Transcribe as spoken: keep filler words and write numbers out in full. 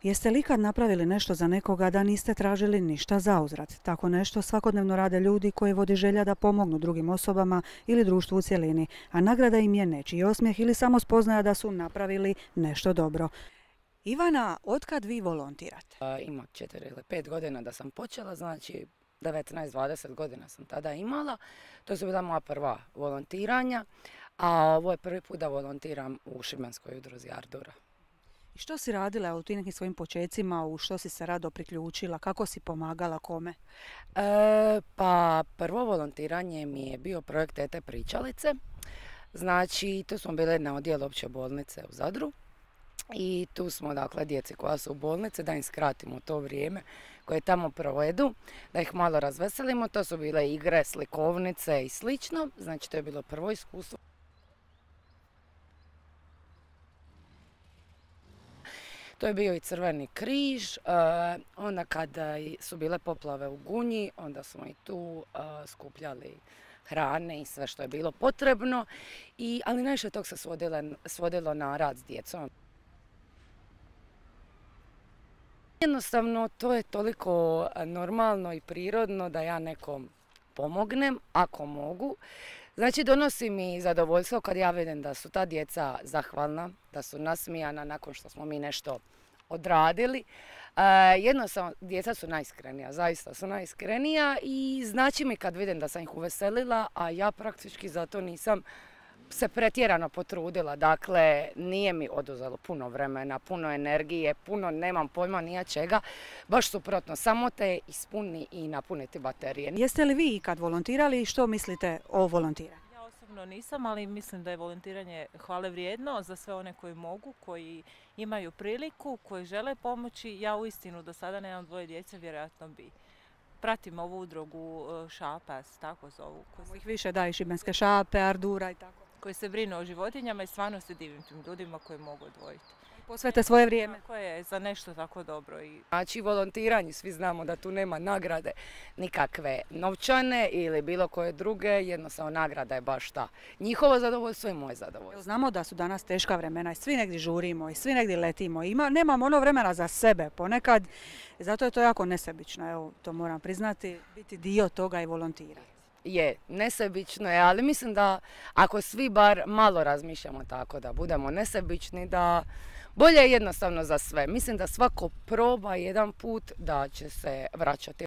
Jeste li ikad napravili nešto za nekoga da niste tražili ništa zauzvrat? Tako nešto svakodnevno rade ljudi koji vodi želja da pomognu drugim osobama ili društvu u cjelini, a nagrada im je nečiji osmijeh ili samo spoznaja da su napravili nešto dobro. Ivana, otkad vi volontirate? Ima četiri ili pet godina da sam počela, znači devetnaest dvadeset godina sam tada imala. To su bila moja prva volontiranja, a ovo je prvi put da volontiram u Šibenskoj udruzi Ardura. I što si radila u tim nekim svojim počecima, u što si se rado priključila, kako si pomagala, kome? E, pa prvo volontiranje mi je bio projekt Tete pričalice. Znači tu smo bili na odjelu opće bolnice u Zadru. I tu smo, dakle, djeci koja su u bolnici, da im skratimo to vrijeme koje tamo provedu, da ih malo razveselimo. To su bile igre, slikovnice i slično. Znači, to je bilo prvo iskustvo. To je bio i Crveni križ. Onda kada su bile poplave u Gunji, onda smo i tu skupljali hrane i sve što je bilo potrebno. I, ali najviše tog se svodilo, svodilo na rad s djecom. Jednostavno, to je toliko normalno i prirodno da ja nekom pomognem, ako mogu. Znači, donosi mi zadovoljstvo kad ja vidim da su ta djeca zahvalna, da su nasmijana nakon što smo mi nešto odradili. E, jednostavno, djeca su najiskrenija, zaista su najiskrenija i znači mi kad vidim da sam ih uveselila, a ja praktički zato nisam se pretjerano potrudila, dakle nije mi oduzelo puno vremena, puno energije, puno nemam pojma nija čega, baš suprotno, samo te ispuni i napuniti baterije. Jeste li vi ikad volontirali i što mislite o volontiranju? Ja osobno nisam, ali mislim da je volontiranje hvale vrijedno za sve one koji mogu, koji imaju priliku, koji žele pomoći. Ja uistinu do sada nemam dvoje djece, vjerojatno bi. Pratim ovu udrugu Šapas, tako zovu. Ih više da, i Šibenske šape, Ardura i tako. Koji se brinu o životinjama i stvarno se divim tim ljudima koji mogu odvojiti. Posvete svoje vrijeme. Koje je za nešto tako dobro. I... Znači volontiranje, svi znamo da tu nema nagrade nikakve novčane ili bilo koje druge, jednostavno nagrada je baš ta. Njihovo zadovoljstvo i moje zadovoljstvo. Znamo da su danas teška vremena i svi negdje žurimo i svi negdje letimo. Ima, nemamo ono vremena za sebe ponekad, zato je to jako nesebično, evo, to moram priznati, biti dio toga i volontirati. Je, nesebično je, ali mislim da ako svi bar malo razmišljamo tako da budemo nesebični, da bolje je jednostavno za sve. Mislim da svako proba jedan put da će se vraćati.